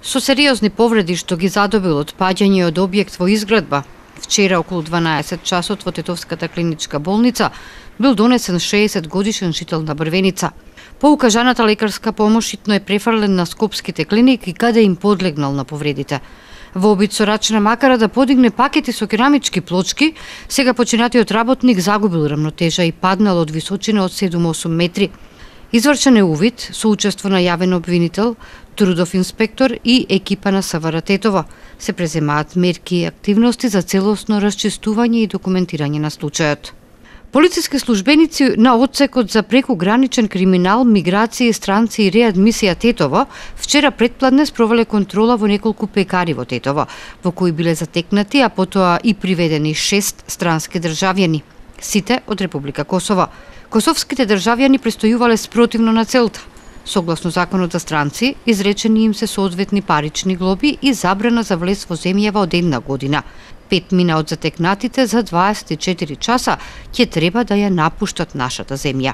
Со сериозни повреди што ги задобил од паѓање од објект во изградба, вчера околу 12 часот во Тетовската клиничка болница бил донесен 60 годишен жител на Брвеница. По укажаната лекарска помош итно е префрлен на скопските клиники каде им подлегнал на повредите. Во обид со рачна макара да подигне пакети со керамички плочки, сега починатиот работник загубил рамнотежа и паднал од височина од 7-8 метри. Извршен е увид со учество на јавен обвинител, трудов инспектор и екипа на СВР Тетово. Се преземаат мерки и активности за целосно расчистување и документирање на случајот. Полициски службеници на одсекот за прекуграничен криминал, миграција, странци и реадмисија Тетово вчера предпладне спровеле контрола во неколку пекари во Тетово, во кои биле затекнати, а потоа и приведени 6 странски државјани, сите од Република Косово. Косовските државјани престојувале спротивно на целта. Согласно законот за странци, изречени им се соодветни парични глоби и забрана за влез во земјава од 1 година. 5 мина од затекнатите за 24 часа ќе треба да ја напуштат нашата земја.